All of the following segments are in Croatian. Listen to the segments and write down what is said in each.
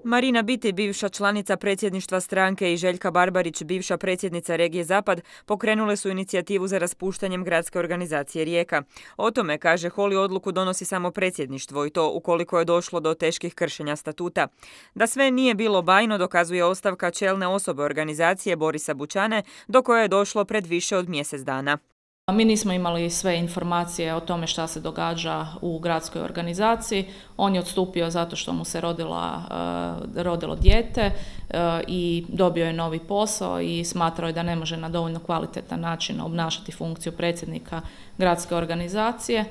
Marina Biti, bivša članica predsjedništva stranke, i Željka Barbarić, bivša predsjednica regije Zapad, pokrenule su inicijativu za raspuštanjem gradske organizacije Rijeka. O tome, kaže Holy, odluku donosi samo predsjedništvo i to ukoliko je došlo do teških kršenja statuta. Da sve nije bilo bajno dokazuje ostavka čelne osobe organizacije Borisa Bućane, do koje je došlo pred više od mjesec dana. Mi nismo imali sve informacije o tome šta se događa u gradskoj organizaciji. On je odstupio zato što mu se rodilo dijete i dobio je novi posao i smatrao je da ne može na dovoljno kvalitetan način obnašati funkciju predsjednika gradske organizacije.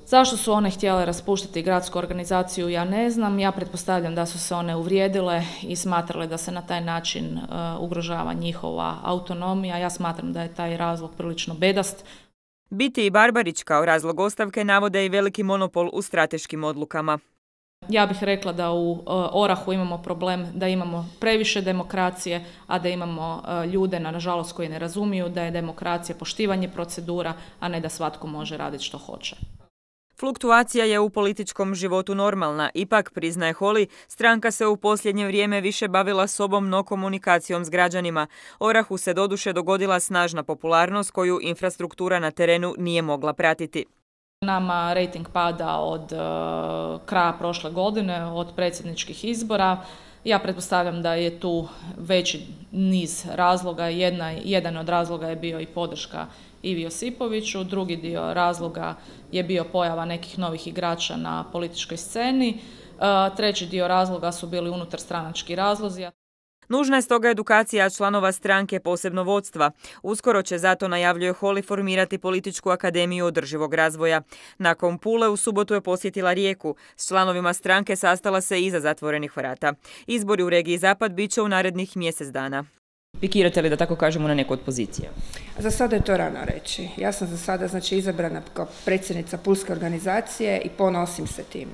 Zašto su one htjele raspuštati gradsku organizaciju, ja ne znam. Ja pretpostavljam da su se one uvrijedile i smatrale da se na taj način ugrožava njihova autonomija. Ja smatram da je taj razlog prilično bedast. Biti i Barbarić kao razlog ostavke navode i veliki monopol u strateškim odlukama. Ja bih rekla da u Orahu imamo problem da imamo previše demokracije, a da imamo ljude, nažalost, koji ne razumiju da je demokracija poštivanje procedura, a ne da svatko može raditi što hoće. Fluktuacija je u političkom životu normalna, ipak, priznaje Holy, stranka se u posljednje vrijeme više bavila sobom no komunikacijom s građanima. Orahu se doduše dogodila snažna popularnost koju infrastruktura na terenu nije mogla pratiti. Nama rejting pada od kraja prošle godine, od predsjedničkih izbora. Ja pretpostavljam da je tu veći niz razloga. Jedan od razloga je bio i podrška Ivi Josipoviću, drugi dio razloga je bio pojava nekih novih igrača na političkoj sceni, treći dio razloga su bili unutarstranački razlozi. Nužna je stoga edukacija članova stranke, posebno vodstva. Uskoro će zato, najavljuje Holy, formirati političku akademiju održivog razvoja. Nakon Pule u subotu je posjetila Rijeku. S članovima stranke sastala se iza zatvorenih vrata. Izbori u regiji Zapad bit će u narednih mjesec dana. Pikirate li, da tako kažemo, na neku od pozicija? Za sada je to rano reći. Ja sam za sada izabrana kao predsjednica Pulske organizacije i ponosim se time.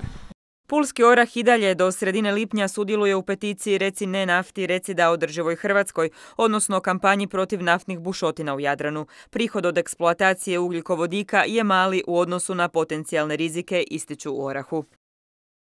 Pulski Orah i dalje do sredine lipnja sudjeluje u peticiji Reci ne nafti, reci da održivoj Hrvatskoj, odnosno kampanji protiv naftnih bušotina u Jadranu. Prihod od eksploatacije ugljikovodika je mali u odnosu na potencijalne rizike, ističu u Orahu.